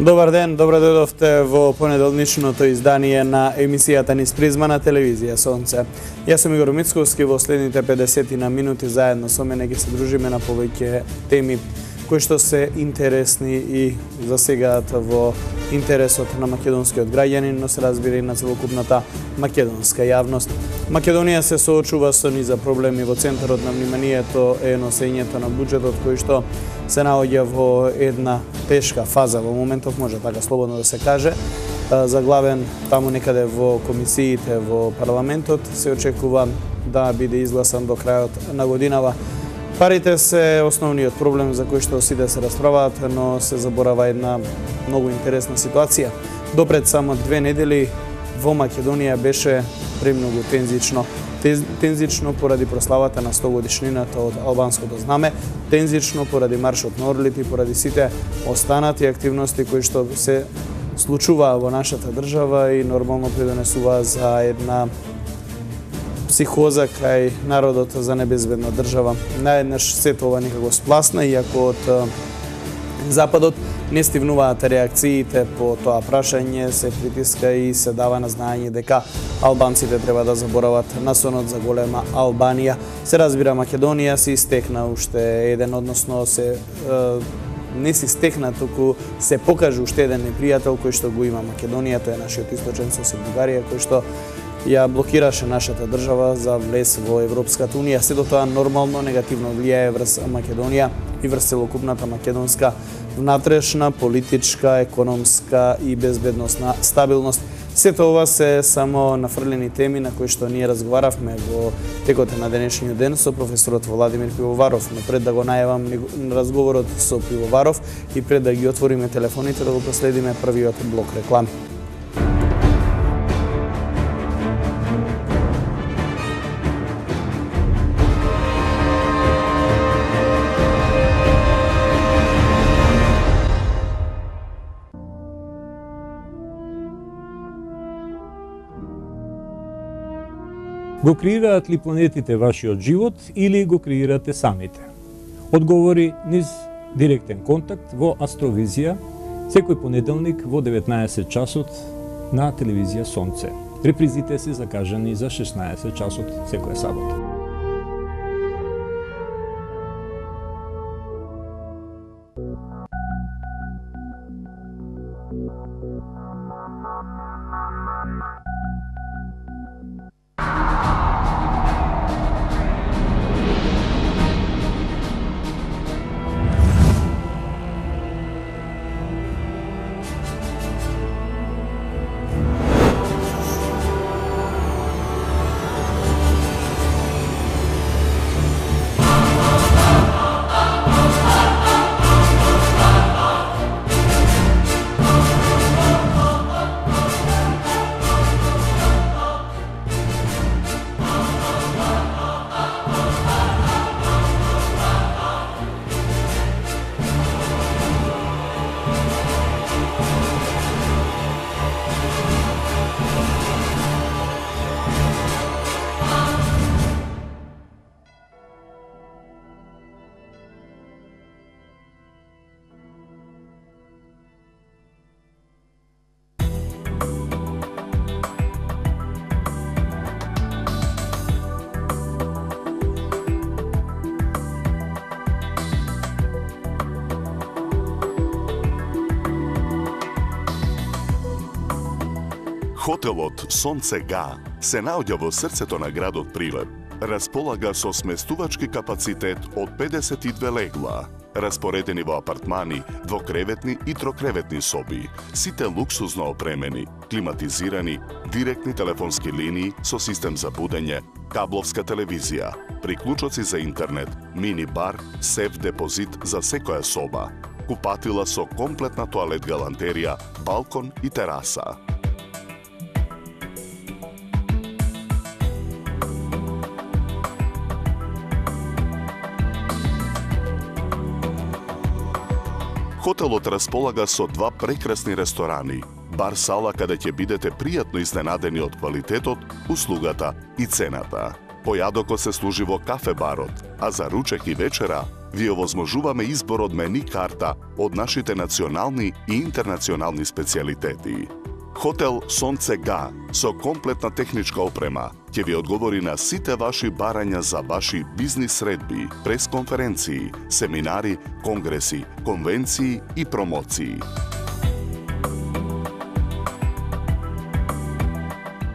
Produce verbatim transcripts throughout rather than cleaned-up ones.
Добар ден, добро дојдовте во понеделничното издание на емисијата низ призма на телевизија Сонце. Јас сум Игор Мицковски, во следните педесет на минути заедно со мене ги се дружиме на повеќе теми кои што се интересни и засегаат во интересот на македонскиот граѓанин, но се разбира и на целокупната македонска јавност. Македонија се соочува со низа проблеми. Во центарот на вниманието е носењето на буџетот кој што се наоѓа во една тешка фаза во моментов, може така слободно да се каже. Заглавен таму некаде во комисиите во парламентот, се очекува да биде изгласан до крајот на годинава. Парите се основниот проблем за кој што сите се расправаат, но се заборава една многу интересна ситуација. Допред само две недели во Македонија беше премногу тензично. Тензично поради прославата на сто годишнината од албанското знаме, тензично поради маршот на орлите и поради сите останати активности кои што се случуваа во нашата држава и нормално придонесуваа за една психоза кај народот за небезбедна држава. Наеднаш сето ова некако спласна, иако од Западот не стивнуваат реакциите по тоа прашање, се притиска и се дава на знаење дека албанците треба да заборават насонот за голема Албанија. Се разбира, Македонија се истекна уште еден, односно се е, не се стекна, туку се покажа уште еден непријател кој што го има Македонија, тоа е нашиот источен сосед Бугарија, кој што ја блокираше нашата држава за влез во Европската унија. Се до тоа нормално негативно влијае врз Македонија и врз целокупната македонска внатрешна, политичка, економска и безбедносна стабилност. Сето ова се само нафрлени теми на кои што ние разговаравме во текот на денешниот ден со професорот Владимир Пивоваров. Но пред да го најавам разговорот со Пивоваров и пред да ги отвориме телефоните, да го проследиме првиот блок реклами. Го креираат ли планетите вашиот живот или го креирате самите? Одговори низ директен контакт во Астровизија, секој понеделник во деветнаесет часот на телевизија Сонце. Репризите се закажани за шеснаесет часот секоја сабота. Хотелот Сонце Га се наоѓа во срцето на градот Прилеп. Располага со сместувачки капацитет од педесет и две легла, распоредени во апартмани, двокреветни и трокреветни соби, сите луксузно опремени, климатизирани, директни телефонски линии со систем за будење, кабловска телевизија, приклучоци за интернет, мини бар, сеф депозит за секоја соба, купатила со комплетна тоалет галантерија, балкон и тераса. Хотелот располага со два прекрасни ресторани, бар-сала каде ќе бидете пријатно изненадени од квалитетот, услугата и цената. Појадокот се служи во кафе-барот, а за ручек и вечера ви овозможуваме избор од мени карта од нашите национални и интернационални специјалитети. Хотел Сонце Га со комплетна техничка опрема ќе ви одговори на сите ваши барања за ваши бизнис средби, пресконференции, семинари, конгреси, конвенции и промоции.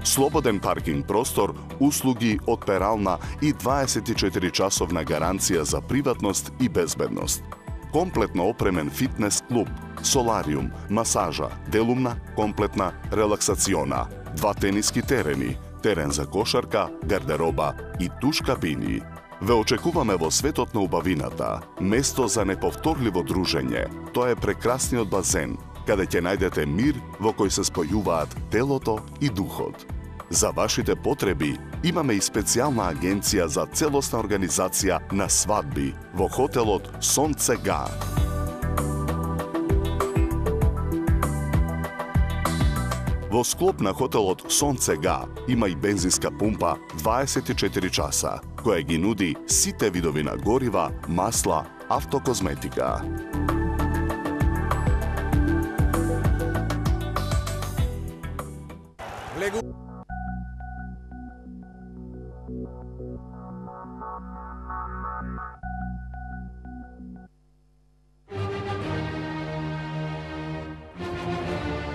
Слободен паркинг простор, услуги од перална и дваесет и четири часовна гаранција за приватност и безбедност. Комплетно опремен фитнес клуб, солариум, масажа, делумна, комплетна релаксациона, два тениски терени, терен за кошарка, гардероба и туш кабини. Ве очекуваме во светот на убавината, место за неповторливо дружење. Тоа е прекрасниот базен, каде ќе најдете мир во кој се спојуваат телото и духот. За вашите потреби имаме и специјална агенција за целосна организација на свадби во хотелот Сонце Га. Во склоп на хотелот Сонце Га има и бензинска пумпа дваесет и четири часа, која ги нуди сите видови на горива, масла, автокозметика.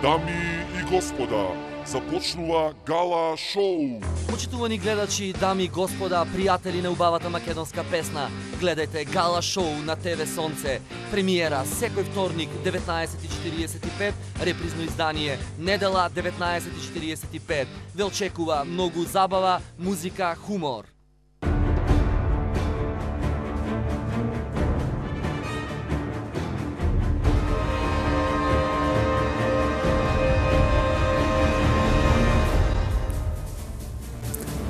Дами и господа, започнува Гала Шоу. Почитувани гледачи, дами и господа, пријатели на убавата македонска песна, гледајте Гала Шоу на ТВ Сонце. Премиера секој вторник деветнаесет и четириесет и пет, репризно издание недела деветнаесет и четириесет и пет. Ве очекува многу забава, музика, хумор.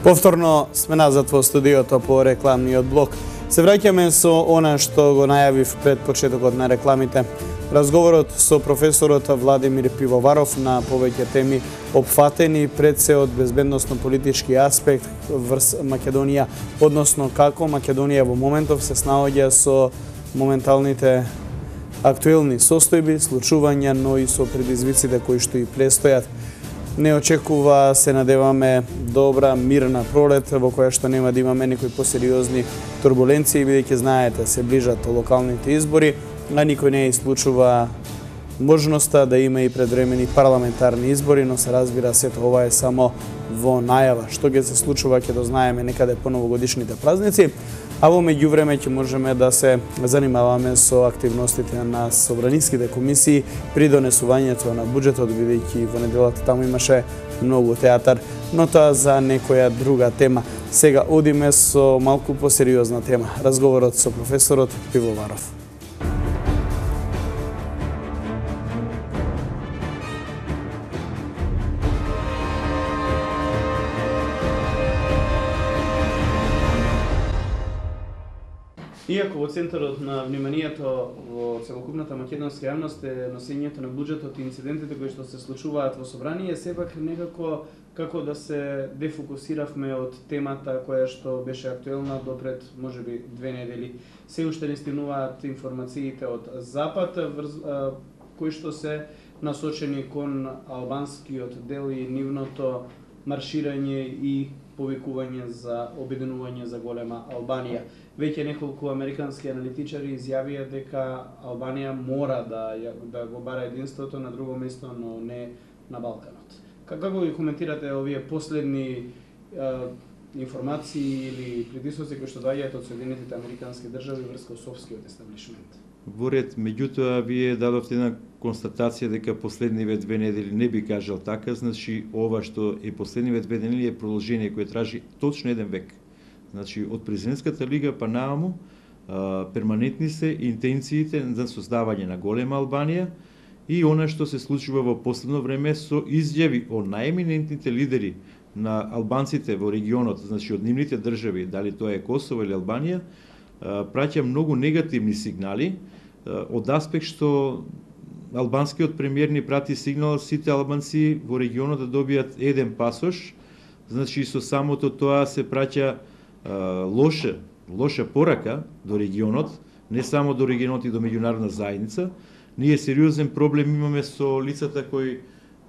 Повторно сме назад во студиото по рекламниот блок. Се враќаме со она што го најавив пред почетокот на рекламите. Разговорот со професорот Владимир Пивоваров на повеќе теми опфатени пред се од безбедносно-политички аспект врз Македонија, односно како Македонија во моментов се снаоѓа со моменталните актуелни состојби, случувања, но и со предизвиците кои што и престојат. Не очекува, се надеваме, добра, мирна пролет, во која што нема да имаме некои посериозни турбуленции, бидејќи знаете, се ближат локалните избори, а никој не исклучува можноста да има и предвремени парламентарни избори, но се разбира сето ова е само во најава. Што ќе се случува ќе дознаеме некаде по новогодишните празници, а во меѓувреме ќе можеме да се занимаваме со активностите на собраниските комисии при донесувањето на буџетот, бидејќи во неделата таму имаше многу театар, но тоа за некоја друга тема. Сега одиме со малку посериозна тема. Разговорот со професорот Пивоваров. Иако во центарот на вниманието во целокупната македонска јавност е носењето на буџетот и инцидентите кои што се случуваат во собрание, сепак некако како да се дефокусиравме од темата која што беше актуелна допред можеби две недели. Се уште не стигнуваат информациите од Запад врз, а, кои што се насочени кон албанскиот дел и нивното марширање и повикување за обединување за голема Албанија. Веќе неколку американски аналитичари изјавија дека Албанија мора да, да го бара единството на друго место, но не на Балканот. Како ги коментирате овие последни е, информации или притисоци кои што доаѓаат од Соединетите американски држави врз косовскиот естаблишмент? Во ред, меѓутоа, вие дадовте една констатација дека последниве две недели не би кажал така, значи ова што е последниве две недели е продолжение кое тражи точно еден век. Значи, од президентската лига па нааму, перманентни се интенциите за создавање на голема Албанија и она што се случува во последно време со изјави од најеминентните лидери на албанците во регионот, значи од нивните држави, дали тоа е Косово или Албанија, праќа многу негативни сигнали од аспект што албанскиот премиер ни прати сигнал сите албанци во регионот да добијат еден пасош, значи со самото тоа се праќа лоша, лоша порака до регионот, не само до регионот и до меѓународна заедница. Ние сериозен проблем имаме со лицата кои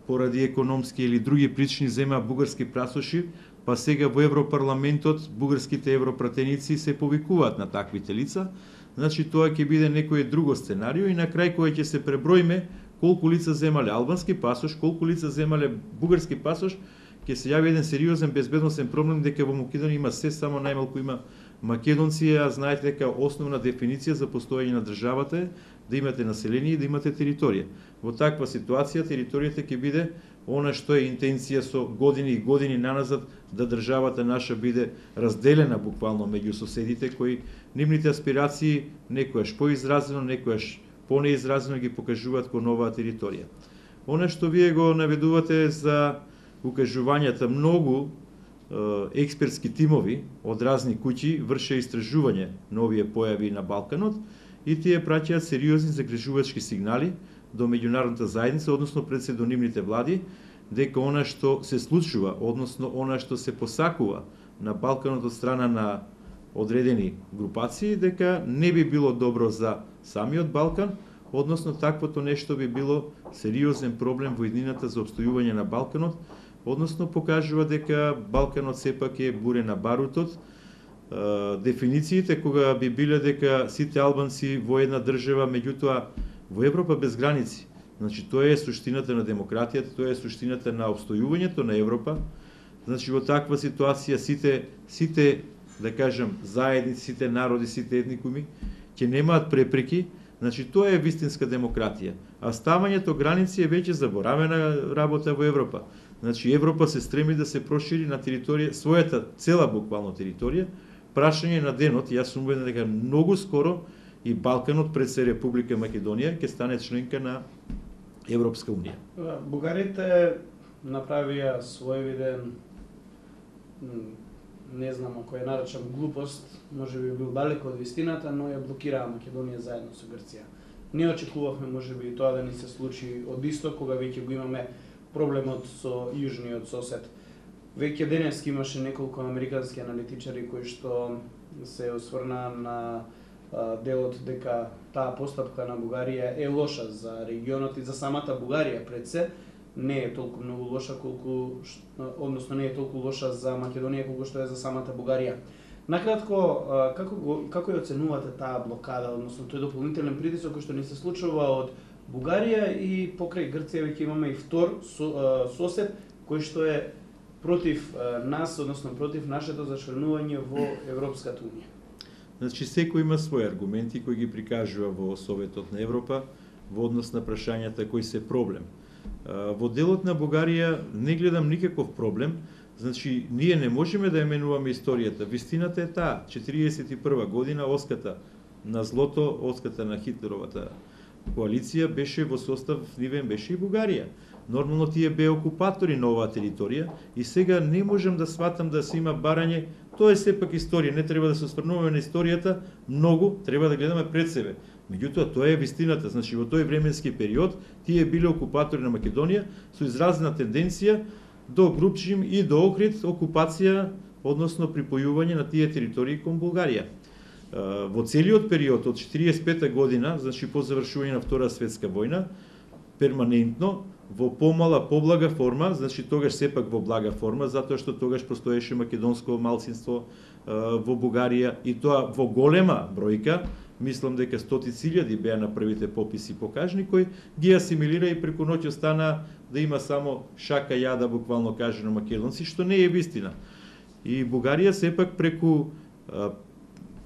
поради економски или други причини зема бугарски прасоши, па сега во Европарламентот бугарските европратеници се повикуваат на таквите лица. Значи тоа ќе биде некој друго сценарио и на крај кој ќе се преброиме колку лица земале албански пасош, колку лица земале бугарски пасош, ќе се јави еден сериозен безбедносен проблем дека во Македонија има се само најмалку има македонци, а знаете дека основна дефиниција за постоење на државата е да имате население и да имате територија. Во таква ситуација територијата ќе биде она што е интенција со години и години наназад да државата наша биде разделена буквално меѓу соседите кои нивните аспирации некојаш поизразено, некојаш понеизразено ги покажуваат кон оваа територија. Она што вие го наведувате за укажувањата, многу е, експертски тимови од разни куќи врше истражување на овие појави на Балканот и тие праќаат сериозни загрижувачки сигнали до меѓународната заедница, односно пред се до нивните влади, дека она што се случува, односно она што се посакува на Балканот од страна на одредени групации, дека не би било добро за самиот Балкан, односно таквото нешто би било сериозен проблем во иднината за обстојување на Балканот, односно покажува дека Балканот сепак е буре на барутот. Дефинициите кога би биле дека сите албанци во една држава, меѓутоа во Европа без граници. Значи тоа е суштината на демократијата, тоа е суштината на обстојувањето на Европа. Значи во таква ситуација сите сите да кажам заедници, сите народи, сите етникуми ќе немаат препреки. Значи тоа е вистинска демократија. А ставањето граници е веќе заборавена работа во Европа. Значи Европа се стреми да се прошири на територија својата цела буквално територија. Прашање на денот, јас сум убеден дека многу скоро и Балканот пред се Република Македонија ќе стане членка на Европска унија. Бугарите направија своевиден, не знам ако ја наречам глупост, може би бил далеко од вистината, но ја блокираа Македонија заедно со Грција. Не очекувавме може би тоа да ни се случи од исток, кога веќе го имаме проблемот со јужниот сосед. Веќе денески имаше неколку американски аналитичари кои што се осврнаа на а, делот дека таа постапка на Бугарија е лоша за регионот и за самата Бугарија пред се, не е толку многу лоша колку, односно не е толку лоша за Македонија колку што е за самата Бугарија. Накратко, како го како ја оценувате таа блокада, односно тој дополнителен притисок кој што ни се случува од Бугарија и покрај Грција веќе имаме и втор со, сосед кој што е против нас, односно против нашето зачленување во Европската унија. Значи секој има своји аргументи кои ги прикажува во Советот на Европа во однос на прашањата кои се проблем. Во делот на Бугарија не гледам никаков проблем. Значи ние не можеме да ја менуваме историјата. Вистината е таа, четириесет и прва година оската на злото, оската на Хитлеровата коалиција беше во состав нивен беше и Бугарија. Нормално тие беа окупатори на оваа територија и сега не можам да сватам да се има барање. Тоа е сепак историја, не треба да се осврнуваме на историјата, многу треба да гледаме пред себе. Меѓутоа тоа е вистината, значи во тој временски период тие биле окупатори на Македонија со изразена тенденција до Групчим и до Охрид окупација, односно припојување на тие територии кон Бугарија. Во целиот период од четириесет и пета година, значи по завршување на Втора светска војна, перманентно во помала, поблага форма, значи тогаш сепак во блага форма, затоа што тогаш постоеше македонско малцинство во Бугарија и тоа во голема бројка, мислам дека стотици илјади беа на првите пописи покажни, кои ги асимилира и преку ноќ остана да има само шака јада, буквално кажано македонци, што не е вистина. И Бугарија сепак преку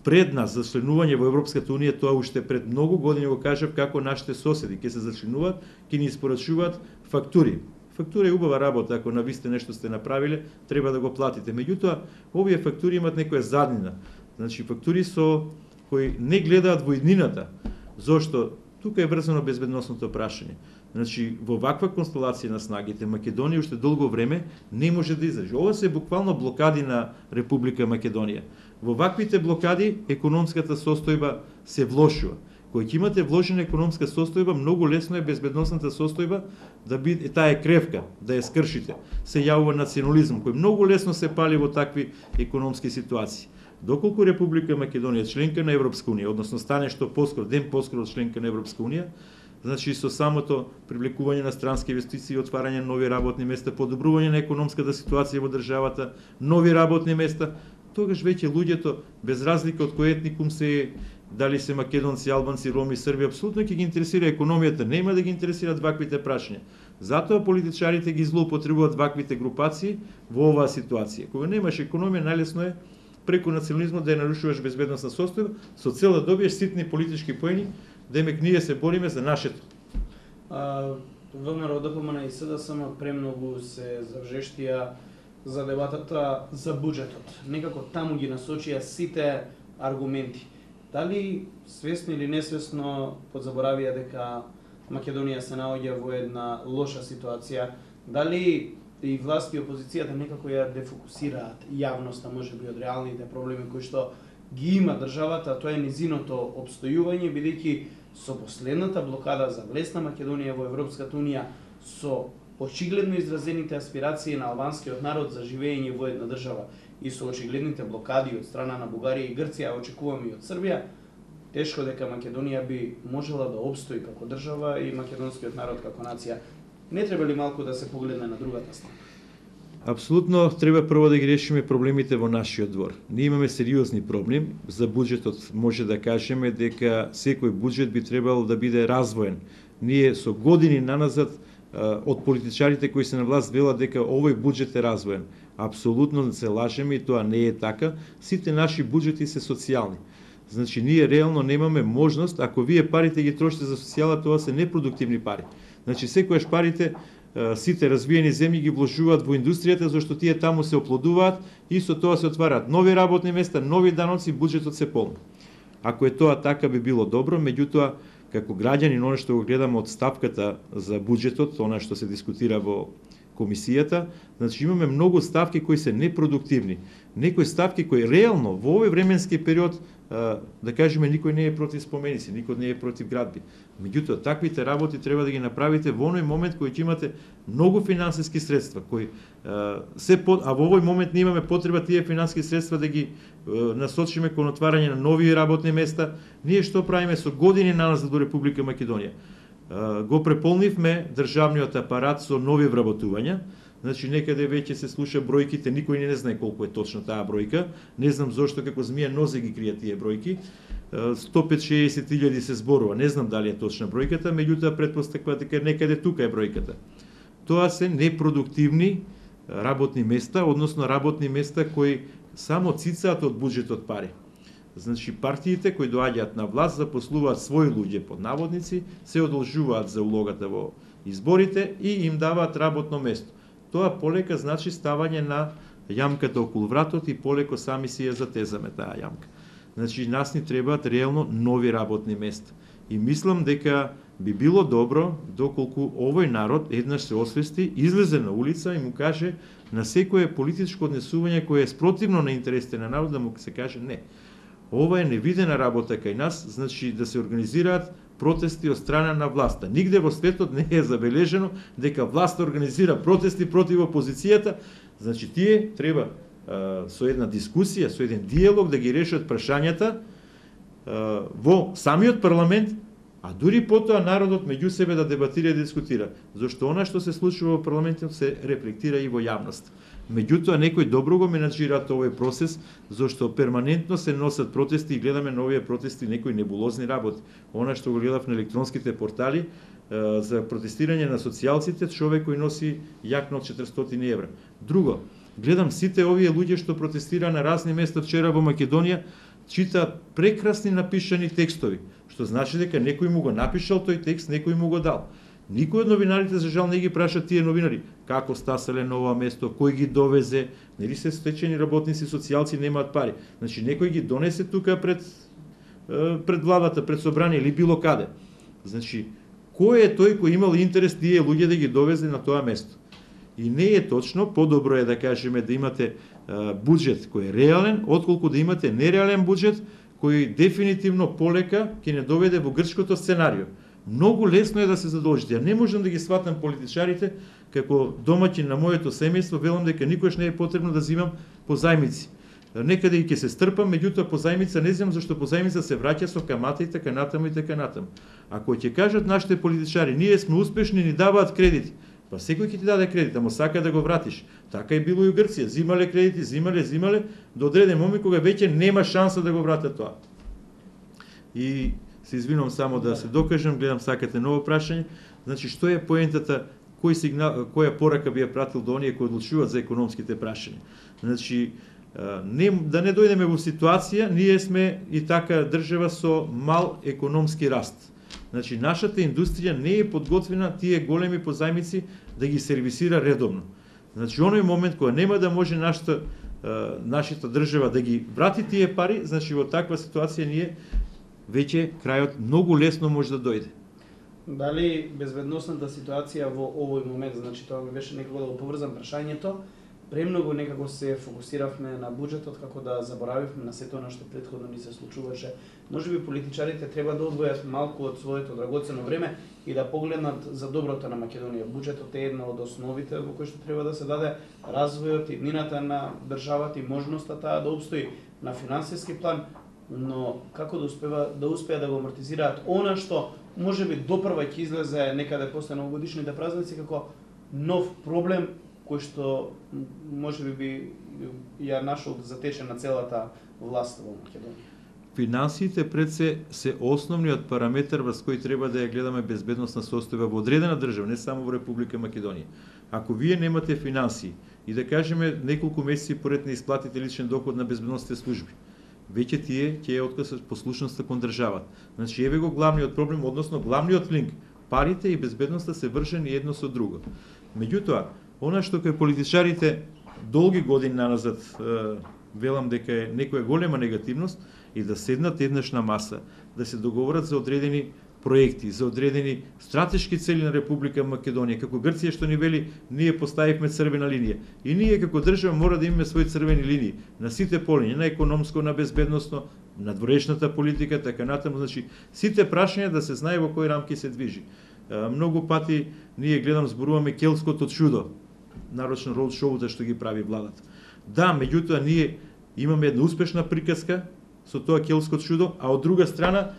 пред нас за членување во Европската унија, тоа уште пред многу години го кажав како нашите соседи ќе се зачленуваат, ќе ни испорачуваат фактури. Фактура е убава работа, ако на висте нешто сте направиле, треба да го платите. Меѓутоа, овие фактури имаат некоја заднина. Значи фактури со кои не гледаат во иднината. Зошто? Тука е врзано безбедносното прашање. Значи, во ваква констелација на снагите, Македонија уште долго време не може да издржи. Ова се буквално блокади на Република Македонија. Во ваквите блокади економската состојба се влошува. Кој ќе имате вложена економска состојба, многу лесно е безбедносната состојба да биде таа е кревка, да ја скршите. Се јавува национализм кој многу лесно се пали во такви економски ситуации. Доколку Република Македонија членка на Европска унија, односно стане што поскоро, ден поскоро членка на Европска унија, значи со самото привлекување на странски инвестиции, отварање на нови работни места, подобрување на економската ситуација во државата, нови работни места, тогаш веќе луѓето, без разлика од кој етникум се, дали се македонци, албанци, роми, срби, апсолутно ќе ги интересира економијата, нема да ги интересираат ваквите прашања. Затоа политичарите ги злоупотребуваат ваквите групации во оваа ситуација. Кога немаш економија, најлесно е преку национализмот да ја нарушуваш безбедностна состојба, со цел да добиеш ситни политички поени, демек ние се бориме за нашето. ВМРО, ДПМН и СДСМ премногу се завжештија за дебатата за буџетот. Некако таму ги насочија сите аргументи. Дали свесно или несвесно подзаборавија дека Македонија се наоѓа во една лоша ситуација? Дали и власт и опозицијата некако ја дефокусираат јавноста, можеби од реалните проблеми кои што ги има државата, тоа е низиното обстојување, бидејќи со последната блокада за влез на Македонија во Европската унија, со очигледно изразените аспирации на албанскиот народ за живење во една држава и со очигледните блокади од страна на Бугарија и Грција, а очекуваме и од Србија, тешко дека Македонија би можела да обстои како држава и македонскиот народ како нација. Не треба ли малку да се погледне на другата страна? Апсолутно треба прво да ги решиме проблемите во нашиот двор. Ние имаме сериозни проблеми. За буџетот може да кажеме дека секој буџет би требало да биде развоен. Ние со години наназад од политичарите кои се на власт велат дека овој буџет е развоен. Апсолутно се лажеме и тоа не е така. Сите наши буџети се социјални. Значи ние реално немаме можност, ако вие парите ги трошите за социјала, тоа се непродуктивни пари. Значи секојаш парите сите развиени земји ги вложуваат во индустријата, зашто тие таму се оплодуваат и со тоа се отвараат нови работни места, нови даноци, буџетот се полни. Ако е тоа така би било добро, меѓутоа како граѓани, оно што го гледаме од ставката за буџетот, она што се дискутира во комисијата, значи имаме многу ставки кои се непродуктивни. Некои ставки кои реално во овој временски период, да кажеме, никој не е против споменици, никој не е против градби. Меѓутоа, таквите работи треба да ги направите во оној момент кој ќе имате многу финансиски средства, кои се по, а во овој момент не имаме потреба тие финансиски средства да ги насочиме кон отварање на нови работни места. Ние што правиме со години наназад до Република Македонија? Го преполнивме државниот апарат со нови вработувања. Значи некаде веќе се слуша бројките, никој не знае колку е точно таа бројка. Не знам зошто како змија нозе ги кријат тие бројки. сто петдесет до шеесет илјади се зборува, не знам дали е точна бројката, меѓутоа претпоставува дека некаде тука е бројката. Тоа се непродуктивни работни места, односно работни места кои само цицаат од буџетот пари. Значи партиите кои доаѓаат на власт запослуваат своји луѓе под наводници, се одолжуваат за улогата во изборите и им даваат работно место. Тоа полека значи ставање на јамката околу вратот и полеко сами си ја затезаме таа јамка. Значи нас ни требаат реално нови работни места. И мислам дека би било добро доколку овој народ еднаш се освести, излезе на улица и му каже на секое политичко однесување кое е спротивно на интересите на народ, да му се каже не. Ова е невидена работа кај нас, значи да се организираат протести од страна на власта. Нигде во светот не е забележено дека власта организира протести против опозицијата. Значи тие треба а, со една дискусија, со еден диалог да ги решат прашањата а, во самиот парламент, а дури потоа народот меѓу себе да дебатира и да дискутира. Зашто она што се случува во парламентот се рефлектира и во јавност. Меѓутоа, некои добро го менаџираат овој процес, зашто перманентно се носат протести и гледаме на овие протести некои небулозни работи. Она што го гледав на електронските портали, за протестирање на социјалците, човек кој носи јакна од четиристотини евра. Друго, гледам сите овие луѓе што протестира на разни места вчера во Македонија, читаат прекрасни напишани текстови, што значи дека некој му го напишал тој текст, некој му го дал. Никој од новинарите за жал не ги праша тие новинари како стаселе на ова место, кој ги довезе, нели се стечени работници, социјалци немаат пари. Значи некој ги донесе тука пред пред владата, пред собрание или било каде. Значи кој е тој кој имал интерес тие луѓе да ги довезе на тоа место? И не е точно, подобро е да кажеме да имате а, буџет кој е реален, отколку да имате нереален буџет кој дефинитивно полека ќе не доведе во грчкото сценарио. Многу лесно е да се задолжите. Ја не можам да ги сватам политичарите како домаќин на моето семејство, велам дека никош не е потребно да земам по зајмици. некаде и ќе се стрпам, меѓутоа позајмица не знам зашто позајмица се враќа со камата и така натаму и така натаму. Ако ќе кажат нашите политичари, ние сме успешни, ни даваат кредити, па секој ќе ти даде кредит, ама сака да го вратиш. Така и било и у Грција, зимале кредити, зимале, зимале, до одреден момент кога веќе нема шанса да го вратат тоа. И се извинувам само да се докажам, гледам сакате ново прашање. Значи, што е поентата, кој сигнал, која порака би ја пратил до оние кои одлучуваат за економските прашања? Значи, не, да не дојдеме во ситуација, ние сме и така држава со мал економски раст. Значи, нашата индустрија не е подготвена тие големи позајмици да ги сервисира редовно. Значи, оној момент кога нема да може нашата, нашата држава да ги врати тие пари, значи во таква ситуација ние веќе крајот многу лесно може да дојде. Дали безбедносната ситуација во овој момент, значи тоа ми беше некако да го поврзам прашањето, премногу некако се фокусиравме на буџетот, како да заборавивме на сето она што претходно ни се случуваше. Можеби политичарите треба да одвојат малку од своето драгоцено време и да погледнат за доброто на Македонија. Буџетот е една од основите во кој што треба да се даде развојот и иднината на државата и можноста таа да обстои на финансиски план, но како да успева да успеа да го амортизираат она што можеби допрва ќе излезе некаде после новогодишните празници како нов проблем кој што можеби би ја нашол затечен на целата власт во Македонија. Финансиите пред се се основниот параметар врз кој треба да ја гледаме безбедносна состојба во одредена држава, не само во Република Македонија. Ако вие немате финансии и да кажеме неколку месеци поред не исплатите личен доход на безбедносните служби, веќе тие ќе ја откажат послушноста кон државата. Значи еве го главниот проблем, односно главниот линк. Парите и безбедноста се вршени едно со друго. Меѓутоа, она што кај политичарите долги години наназад велам дека е некоја голема негативност и да седнат еднаш на маса, да се договорат за одредени проекти, за одредени стратешки цели на Република Македонија, како Грција што ни вели, ние поставивме црвена линија. И ние како држава мора да имаме своји црвени линии на сите полиња, на економско, на безбедносно, на дворешната политика, така натаму, значи сите прашања да се знае во кои рамки се движи. Многу пати ние гледам зборуваме келското чудо, нарочно роуд шоута што ги прави владата. Да, меѓутоа ние имаме една успешна приказка со тоа келско чудо, а од друга страна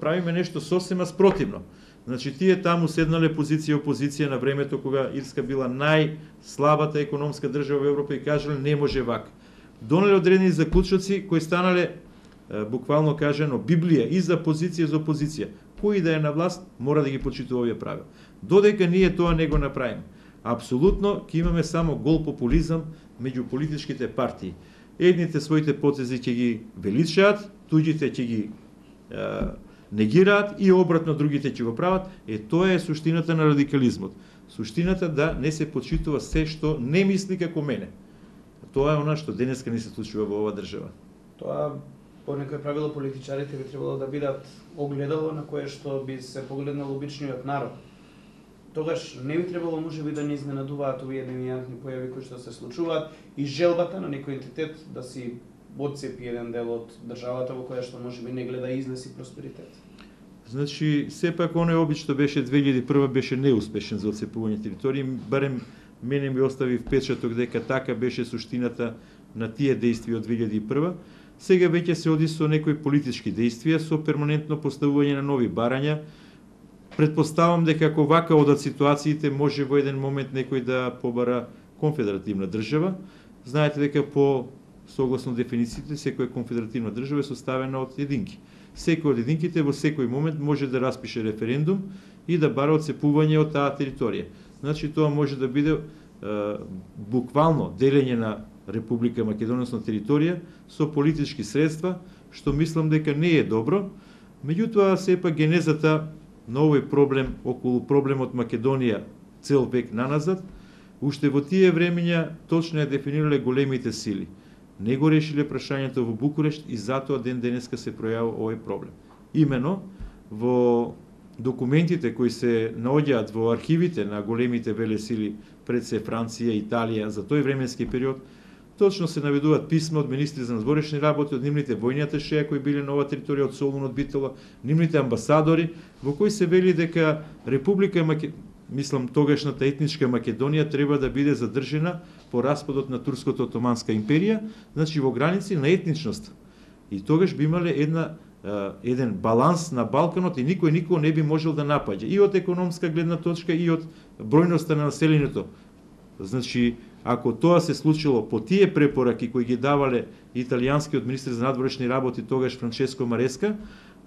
правиме нешто сосема спротивно. Значи тие таму седнале позиција и опозиција на времето кога Ирска била најслабата економска држава во Европа и кажале не може вака. Донале одредени заклучоци кои станале буквално кажано Библија и за позиција и за опозиција. Кој да е на власт мора да ги почитува овие правила. Додека ние тоа не го направиме, апсолутно ќе имаме само гол популизам меѓу политичките партии. Едните своите потези ќе ги величаат, туѓите ќе ги е, негираат и обратно другите ќе го прават. Е, тоа е суштината на радикализмот. Суштината да не се почитува се што не мисли како мене. Тоа е она што денеска не се случува во оваа држава. Тоа по некој правило политичарите би требало да бидат огледало на кое што би се погледнал обичниот народ. Тогаш не би требало можеби да не изненадуваат овие девијантни појави кои што се случуваат и желбата на некој ентитет да си одцепи еден дел од државата во која што можеби не гледа излез и просперитет. Значи, сепак оној обич што беше две илјади и прва беше неуспешен за одцепување територии, барем мене ми остави впечаток дека така беше суштината на тие дејствија од две илјади и прва. Сега веќе се оди со некои политички дејствија, со перманентно поставување на нови барања. Предпоставам дека ако вака одат ситуациите, може во еден момент некој да побара конфедеративна држава. Знаете дека по согласно дефинициите, секоја конфедеративна држава е составена од единки. Секој од единките во секој момент може да распише референдум и да бара одцепување од таа територија. Значи тоа може да биде е, буквално делење на Република Македонија на територија со политички средства, што мислам дека не е добро. Меѓутоа, сепак генезата на овој проблем, околу проблемот Македонија цел век наназад, уште во тие времења точно ја дефинирале големите сили. Не го решиле прашањето во Букурешт и затоа ден денеска се пројавува овој проблем. Имено во документите кои се наоѓаат во архивите на големите велесили пред се Франција, Италија за тој временски период, точно се наведуваат писма од министри за надворешни работи, од нивните војни аташеја кои биле на оваа територија од Солун, од Битола, нивните амбасадори, во кои се вели дека Република Македонија, мислам, тогашната етничка Македонија треба да биде задржена по распадот на Турското Отоманска империја, значи во граници на етничност. И тогаш би имале една еден баланс на Балканот и никој никој не би можел да напаѓа и од економска гледна точка и од бројноста на населението. Значи, ако тоа се случило по тие препораки кои ги давале италијанскиот министер за надворешни работи тогаш Франческо Мареска,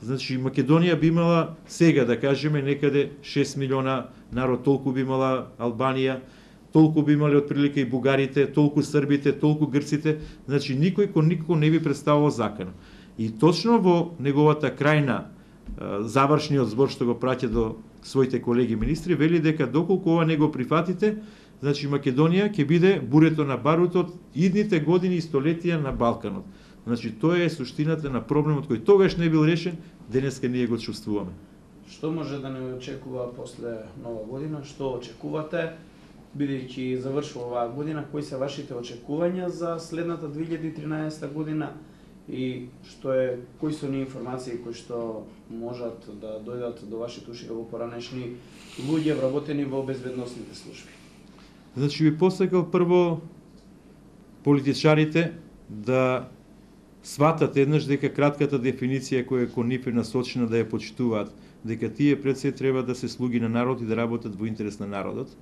значи Македонија би имала сега, да кажеме, некаде шест милиона народ, толку би имала Албанија, толку би имале отприлика и бугарите, толку србите, толку грците, значи никој кон никој не би представувал закано. И точно во неговата крајна завршниот збор што го праќа до своите колеги министри, вели дека доколку ова не го прифатите, значи Македонија ќе биде бурето на барутот идните години и столетија на Балканот. Значи тоа е суштината на проблемот кој тогаш не бил решен, денеска ние го чувствуваме. Што може да не очекува после нова година? Што очекувате? Бидејќи завршува оваа година, кои се вашите очекувања за следната две илјади и тринаесетта година и што е, кои се оние информации кои што можат да дојдат до вашите уши во поранешни луѓе вработени во безбедносните служби? Значи би посакал прво политичарите да сватат еднаш дека кратката дефиниција која е кон нив е насочена да ја почитуваат, дека тие пред се треба да се слуги на народ и да работат во интерес на народот,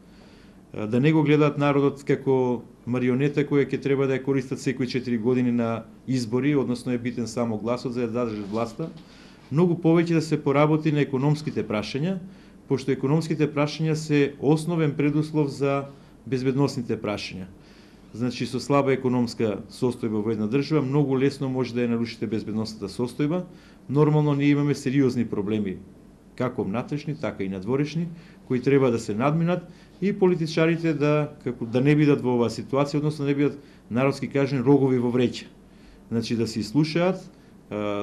да не го гледаат народот како марионета која ќе треба да ја користат секои четири години на избори, односно е битен само гласот за да држат власта, многу повеќе да се поработи на економските прашања, пошто економските прашања се основен предуслов за безбедносните прашања. Значи, со слаба економска состојба во една држава, многу лесно може да ја нарушите безбедносната состојба. Нормално ние имаме сериозни проблеми, како внатрешни, така и надворешни, кои треба да се надминат и политичарите да како да не бидат во оваа ситуација, односно да не бидат народски кажани рогови во вреќа. Значи да се слушаат,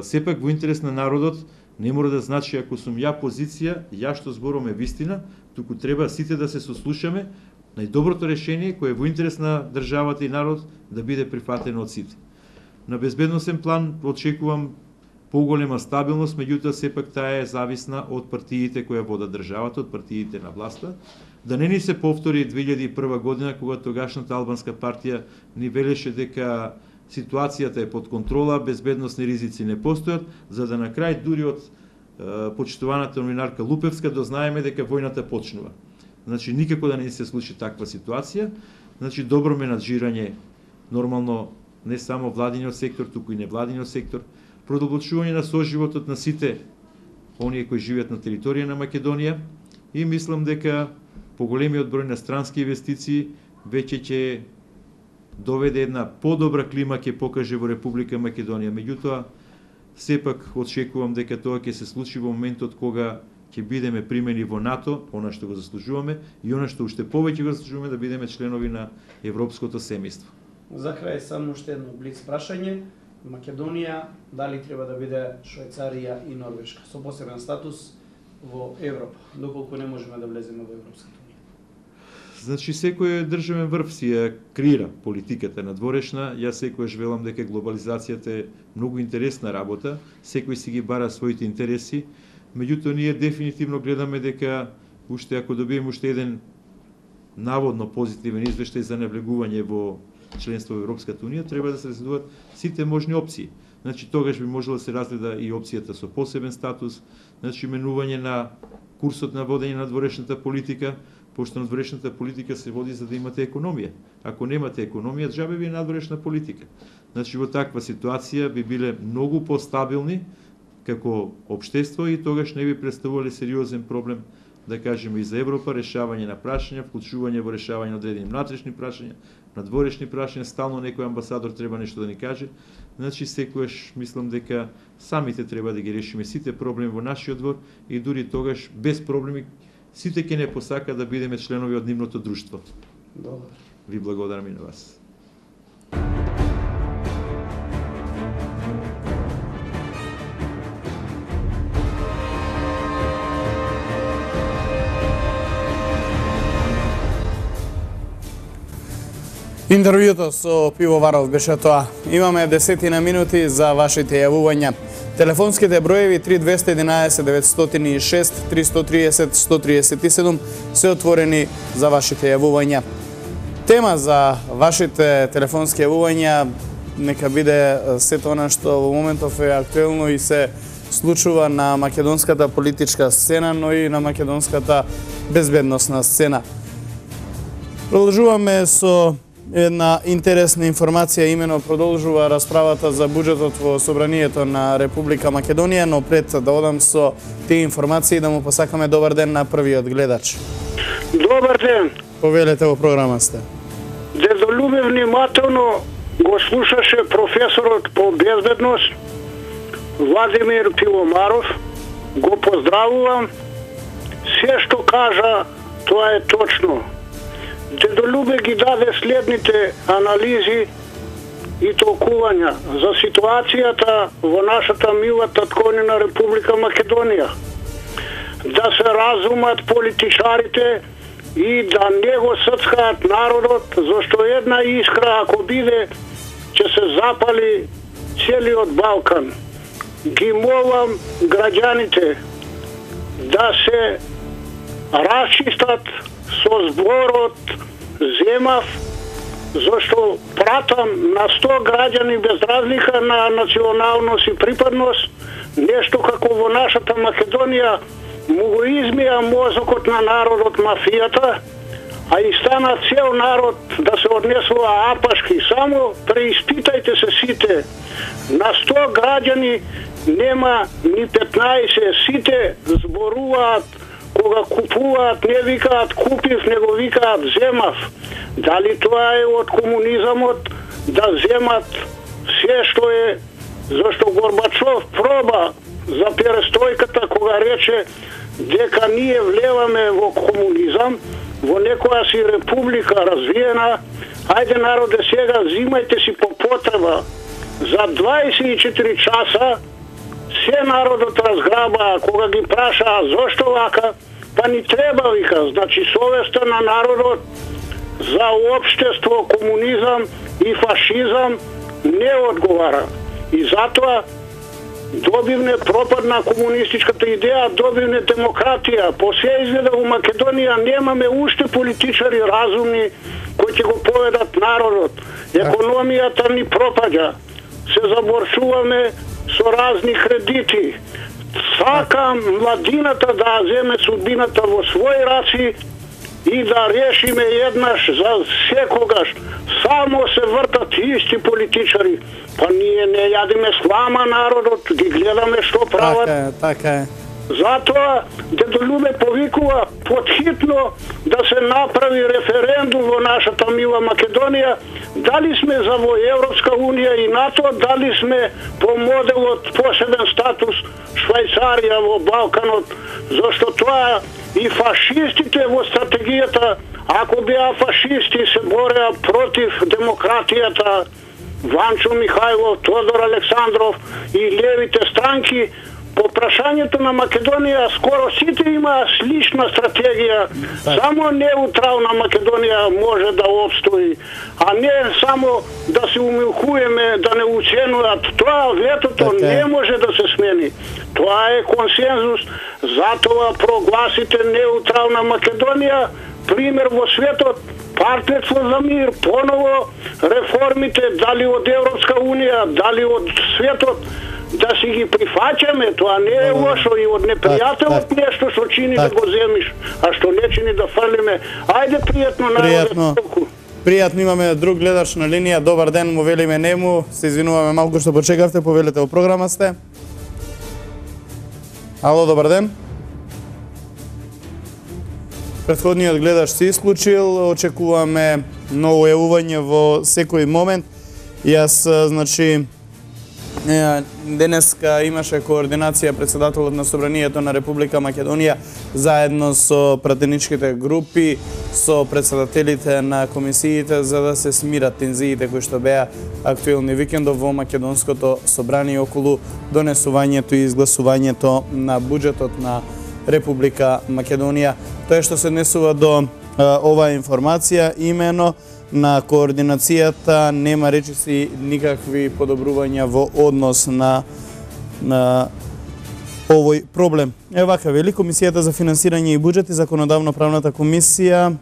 сепак во интерес на народот не мора да значи ако сум ја позиција, ја што зборувам е вистина, туку треба сите да се сослушаме. Најдоброто решение кое е во интерес на државата и народ да биде прифатено од сите. На безбедносен план очекувам поголема стабилност, меѓутоа сепак таа е зависна од партиите кои водат државата, од партиите на власта. Да не ни се повтори две илјади и прва година кога тогашната албанска партија ни велеше дека ситуацијата е под контрола, безбедносни ризици не постојат, за да на крај дури од е, почитуваната новинарка Лупевска дознаеме дека војната почнува. Значи никако да не се случи таква ситуација. Значи добро менаџирање, нормално не само владиниот сектор, туку и невладиниот сектор, продолбочување на соживотот на сите оние кои живеат на територија на Македонија и мислам дека поголемиот број на странски инвестиции веќе ќе доведе една подобра клима ќе покаже во Република Македонија. Меѓутоа, сепак очекувам дека тоа ќе се случи во моментот кога ќе бидеме примени во НАТО, она што го заслужуваме и она што уште повеќе го заслужуваме да бидеме членови на европското семејство. За крај само уште едно блиц прашање. Македонија дали треба да биде Швајцарија и Норвешка со посебен статус во Европа, доколку не можеме да влеземе во Европската унија? Значи секој државен врв си ја креира политиката надворешна. Јас секогаш велам дека глобализацијата е многу интересна работа, секој си ги бара своите интереси. Меѓутоа, ние дефинитивно гледаме дека уште ако добиеме уште еден наводно позитивен извештај за навлегување во членство во Европската унија, треба да се разгледуваат сите можни опции. Значи, тогаш би можело да се разгледа и опцијата со посебен статус, значи, менување на курсот на водење на надворешната политика, пошто надворешната политика се води за да имате економија. Ако немате економија, џабе ви е надворешна политика. Значи, во таква ситуација би биле многу постабилни како општество и тогаш не би представувале сериозен проблем, да кажеме, и за Европа, решавање на прашања, вклучување во решавање на одредени внатрешни прашања, надворешни прашања, стално некој амбасадор треба нешто да ни каже. Значи, секојаш мислам дека самите треба да ги решиме сите проблеми во нашиот двор и дури тогаш без проблеми сите ќе не посака да бидеме членови од нивното друштво. Добро. Ви благодарам и на вас. Интервјуто со Пивоваров беше тоа. Имаме десетина минути за вашите јавувања. Телефонските броеви три двеста и единаесет деветстотини и шест триста и тридесет сто триесет и седум се отворени за вашите јавувања. Тема за вашите телефонски јавувања нека биде сето она што во моментов е актуелно и се случува на македонската политичка сцена, но и на македонската безбедносна сцена. Продолжуваме со една интересна информација, имено продолжува расправата за буџетот во Собранието на Република Македонија, но пред да одам со тие информации да му посакаме добар ден на првиот гледач. Добар ден. Повелете во програма сте. Дедолюбе внимателно го слушаше професорот по безбедност Владимир Пиломаров. Го поздравувам. Се што кажа, тоа е точно. Дедолюбе ги даде следните анализи и толкувања за ситуацијата во нашата мила татковина Република Македонија. Да се разумат политичарите и да не го сцкаат народот, зашто една искра ако биде, ќе се запали целиот Балкан. Ги молам граѓаните да се расчистат со зборот земав, зашто пратам на сто граѓани без разлика на националност и припадност, нешто како во нашата Македонија му го измија мозокот на народот мафијата, а и стана цел народ да се однесува апашки. Само преиспитајте се сите. На сто граѓани нема ни петнаесет, сите зборуваат кога купуваат, не викаат купив, него викаат земав. Дали тоа е од комунизамот да земат се што е, зашто Горбачов проба за перестројката кога рече дека ние влеваме во комунизам, во некоја си република развиена, ајде народе сега зимајте си по потреба. За дваесет и четири часа се народот разграба, кога ги прашаа зошто вака, па ни треба вика, значи совеста на народот за општество, комунизам и фашизам не одговара. И затоа добивне пропад на комунистичката идеја, добивне демократија. По се изгледа во Македонија немаме уште политичари разумни кои ќе го поведат народот. Економијата ни пропаѓа. Се заборчуваме со разни кредити. Сакам младината да земе судбината во своји раци и да решиме еднаш за секогаш. Само се вртат исти политичари. Па ние не јадиме слама народот, ги гледаме што прават. Така е, така е. Затоа Дедолюбе повикува подхитно да се направи референдум во нашата мила Македонија, дали сме за во Европска унија и НАТО, дали сме по моделот посебен статус Швајцарија во Балканот, зашто тоа и фашистите во стратегијата, ако беа фашисти се бореа против демократијата, Ванчо Михајлов, Тодор Александров и левите странки, по прашањето на Македонија скоро сите имаа слична стратегија. Само неутрална Македонија може да обстои, а не само да се умилкуеме, да не уценуваат. Тоа ветото не може да се смени. Тоа е консензус, затоа прогласите неутрална Македонија, пример во светот, партнерство за мир, поново реформите, дали од Европска унија, дали од светот, да си ги прифаќаме, тоа не е лошо и од непријателот нешто што чини да го земиш, а што не чини да фрлиме. Ајде пријатно Пријатно. Пријатно, имаме друг гледач на линија. Добар ден, му велиме нему. Се извинуваме малку што почекавте, повелете во програма сте. Ало, добар ден. Претходниот гледач се исклучил, очекуваме ново јавување во секој момент. Јас, значи, денеска имаше координација председателот на Собранието на Република Македонија заедно со пратеничките групи, со председателите на комисиите за да се смират тензиите кои што беа актуелни викендов во Македонското собрание околу донесувањето и изгласувањето на буџетот на Република Македонија. Тоа што се однесува до а, оваа информација, имено на координацијата нема речиси никакви подобрувања во однос на на овој проблем. Е вака, вели Комисијата за финансирање и буџет и Законодавно-правната комисија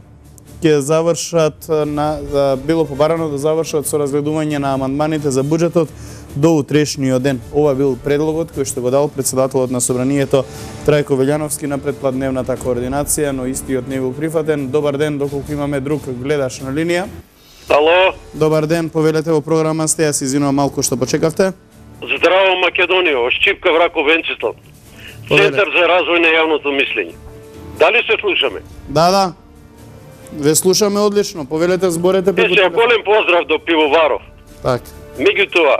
ќе завршат на било побарано да завршат со разгледување на амандманите за буџетот до утрешниот ден. Ова бил предлогот кој што го дал председателот на Собранието Трајко Велјановски на предпладневната координација, но истиот не бил прифатен. Добар ден, доколку имаме друг гледаш на линија. Ало. Добар ден, повелете во програма сте, јас извинувам малку што почекавте. Здраво Македонија, Шчипка Врако Венцислав. Центар за развој на јавното мислење. Дали се слушаме? Да, да. Ве слушаме одлично. Повелете, зборете преку тоа. Голем поздрав до Пивоваров. Так. Меѓутоа,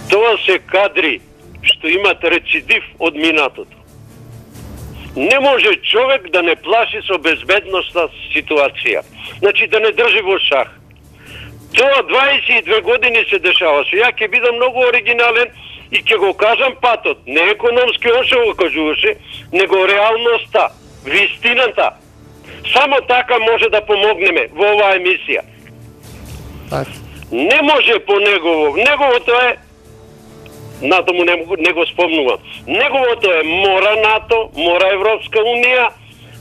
тоа се кадри што имат рецидив од минатото. Не може човек да не плаши со безбедностна ситуација. Значи да не држи во шах. Тоа дваесет и две години се дешаваше. Ја ќе бидам многу оригинален и ќе го кажам патот. Не економски он што го кажуваше, него реалноста, вистината. Само така може да помогнеме во оваа емисија. Так. Не може по негово. Неговото е НАТО му не, не го спомнувам. Неговото е мора НАТО, мора Европска Унија,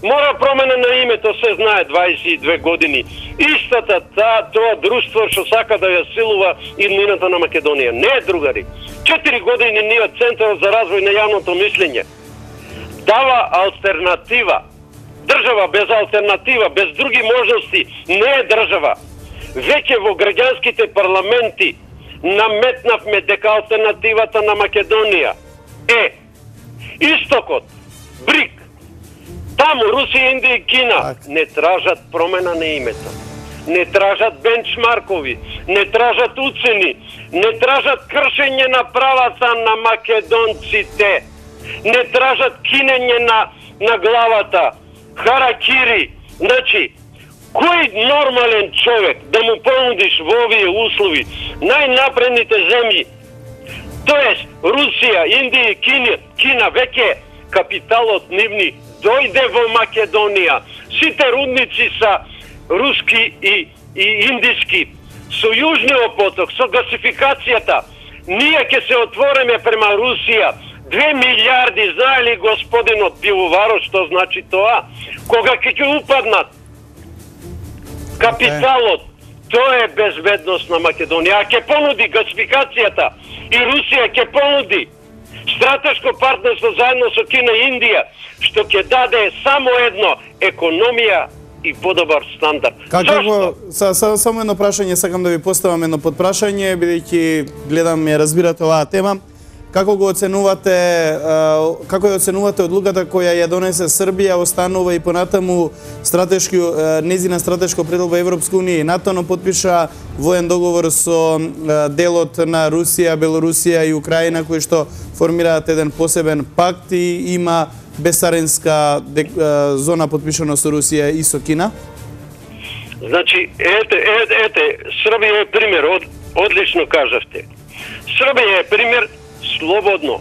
мора промена на името, се знае дваесет и две години. Истата та, тоа друштво што сака да ја силува иднината на Македонија. Не е другари. Четири години ние Центарот за развој на јавното мислење дава алтернатива. Држава без алтернатива, без други можности не е држава. Веќе во граѓанските парламенти наметнавме дека алтернативата на Македонија е Истокот, БРИК. Таму Русија, Индија и Кина не тражат промена на името. Не тражат бенчмаркови, не тражат уцени, не тражат кршење на правата на македонците, не тражат кинење на, на главата, харакири. Значи, кој нормален човек да му понудиш во овие услови најнапредните земји, тоест Русија, Индија и Кина, Кина веќе капиталот нивни дојде во Македонија. Сите рудници са руски и, и индиски. Со Јужниот поток, со гасификацијата, ние ќе се отвориме према Русија. Две милиарди, знае ли господинот Пивоваров што значи тоа? Кога ќе ќе упаднат капиталот, тоа е безбедност на Македонија. А ќе понуди гасификацијата и Русија ќе понуди стратешко партнерство заедно со Кина и Индија, што ќе даде само едно економија и подобар стандард. Како са, са, само едно прашање сакам да ви поставам едно подпрашање, бидејќи гледам ја разбирате оваа тема. Како го оценувате, како ја оценувате одлуката која ја донесе Србија, останува и понатаму стратешки незина стратешко пределба Европска унија и НАТО, но подпиша воен договор со делот на Русија, Белорусија и Украина, кои што формираат еден посебен пакт и има безцаринска зона подпишано со Русија и со Кина? Значи, ете, ете, ете, Србија е пример, од, одлично кажавте. Србија е пример слободно.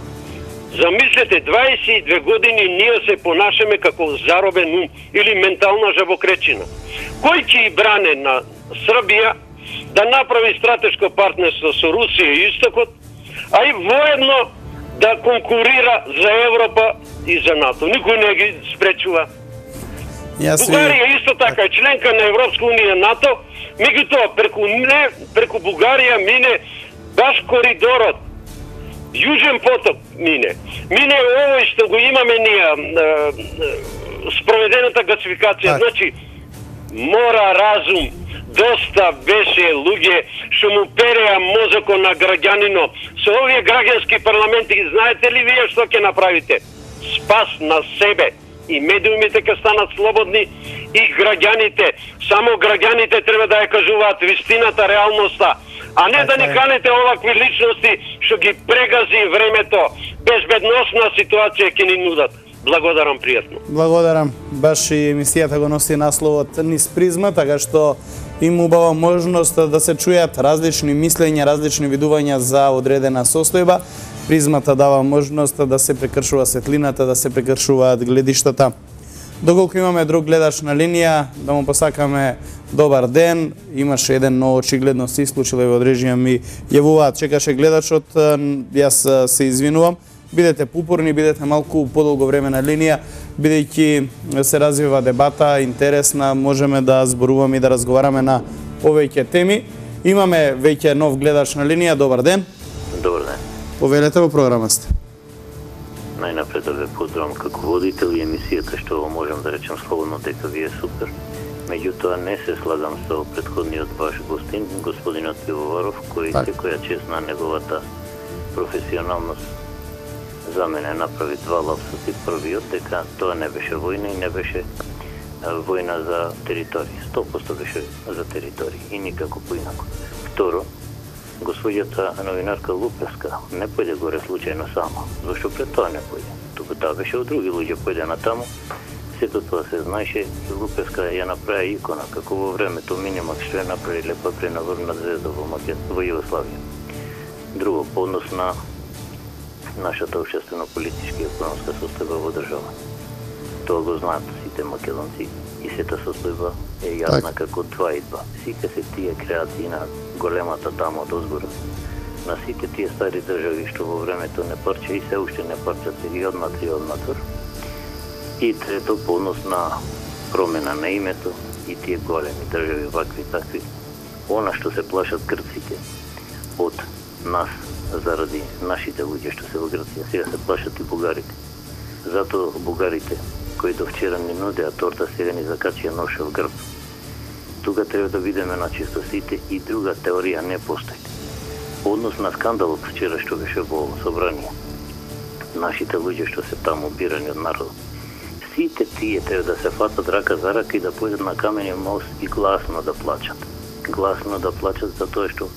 Замислете, дваесет и две години ние се понашаме како заробен ум или ментална жабокречина. Кој ќе и бране на Србија да направи стратешко партнерство со Русија и Истокот, а и воедно да конкурира за Европа и за НАТО. Никој не ги спречува. Јас Бугарија исто така е членка на Европска унија, НАТО, меѓутоа преку не преку Бугарија мине баш коридорот. Јужен поток мине. Мине овој што го имаме ние, спроведената гасификација. Значи, мора разум. Доста беше луѓе што му переа мозокот на граѓанино. Со овие граѓански парламенти, знаете ли вие што ќе направите? Спас на себе. И медиумите ќе станат слободни, и граѓаните. Само граѓаните треба да ја кажуваат вистината, реалноста. А не да ни канете овакви личности што ги прегази времето, безбедносна ситуација ќе ни нудат. Благодарам пријатно. Благодарам. Баш и емисијата го носи насловот Низ призма, така што им убава можност да се чујат различни мислења, различни видувања за одредена состојба. Призмата дава можност да се прекршува светлината, да се прекршуваат гледиштата. Доколку имаме друг гледач на линија, да му посакаме добар ден. Имаше еден, но очигледно се исклучило и од режија ми јавуваат. Чекаше гледачот, јас се извинувам. Бидете попорни, бидете малку подолго време на линија, бидејќи се развива дебата, интересна, можеме да зборуваме и да разговараме на повеќе теми. Имаме веќе нов гледач на линија. Добар ден. Добар ден. Повелете во програма сте. Најнапред да ве поздравам како водител и емисијата, што можам да речем слободно дека ви е супер. Меѓутоа не се слагам со претходниот ваш гостин, господинот Пивоваров, кој так. секоја чест на неговата професионалност за мене направи два лапсуси. Првиот дека тоа не беше војна и не беше војна за територија. сто проценти беше за територија и никако поинако. Второ, госпоѓата новинарка Лупевска не појде горе случајно само, зашто пред тоа не појде. Туку таа беше од други луѓе појде на таму. Сето тоа се знаеше и Лупевска ја направи икона, како во времето Минимакс што ја направи лепа пренаврна звезда во Макед, во Југославија. Друго, по однос на нашата општествено-политичка и економска состојба во држава. Тоа го знаат сите македонци и сета состојба е јасна како два и два. Сите се тие креации на големата дама од озгора, на сите тие стари држави што во времето не парче и се уште не парчат и однатре и однатор. И трето, по однос на промена на името и тие големи држави, вакви такви, она што се плашат грците од нас заради нашите луѓе што се во Грција, сега се плашат и бугарите. Затоа бугарите, кои до вчера ни нудеа торта, сега ни закачија ношев грб. Тука треба да видиме на чисто сите и друга теорија не постои. По однос на скандалот вчера што беше во собрание, нашите луѓе што се таму бирани од народот, сите тие треба да се фатат рака за рака и да појдат на каменен мост и гласно да плачат. Гласно да плачат за тоа што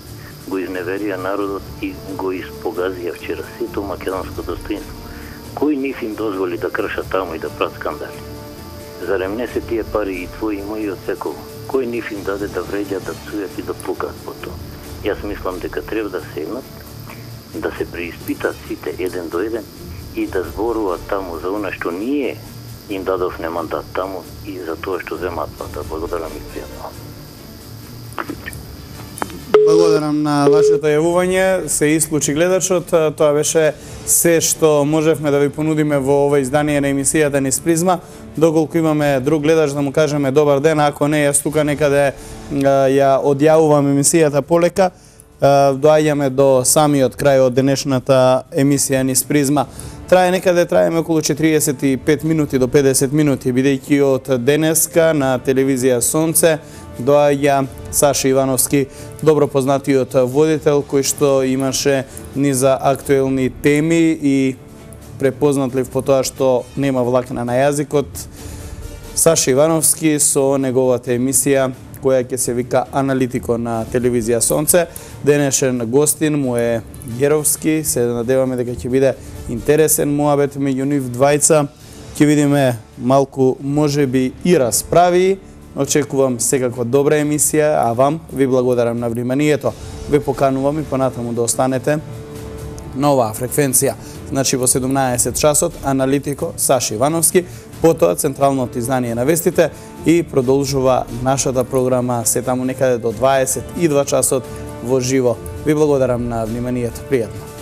го изневерија народот и го испогазија вчера сето македонско достоинство. Кој нив им дозволи да кршат таму и да прават скандали? Зарем не се тие пари и твои и мои од секој? Кој нив им даде да вреѓат, да псујат и да плукаат по тоа? Јас мислам дека треба да седнат, да се преиспитат сите еден до еден и да зборуваат таму за она што ние им дадовме мандат таму и за тоа што земаат плата. Благодарам и пријатно. Благодарам на вашето јавување. Се исклучи гледачот. Тоа беше се што можевме да ви понудиме во ова издание на емисијата низ призма. Доколку имаме друг гледач да му кажеме добар ден, ако не, јас тука некаде ја одјавувам емисијата полека. Доаѓаме до самиот крај од денешната емисија низ призма. Трае некаде, траеме околу четириесет и пет минути до педесет минути, бидејќи од денеска на телевизија Сонце доаѓа Саша Ивановски, добро познатиот водител, кој што имаше низа актуелни теми и препознатлив по тоа што нема влакна на јазикот. Саша Ивановски со неговата емисија која ќе се вика Аналитико на телевизија Сонце. Денешен гостин му е Геровски. Се надеваме дека ќе биде интересен муабет меѓу нив двајца. Ќе видиме малку можеби и расправи. Очекувам секаква добра емисија, а вам ви благодарам на вниманието. Ве поканувам и понатаму да останете на оваа фреквенција. Значи во седумнаесет часот Аналитико Саша Ивановски, потоа централното издание на вестите и продолжува нашата програма се таму некаде до дваесет и два часот во живо. Ви благодарам на вниманието. Пријатно.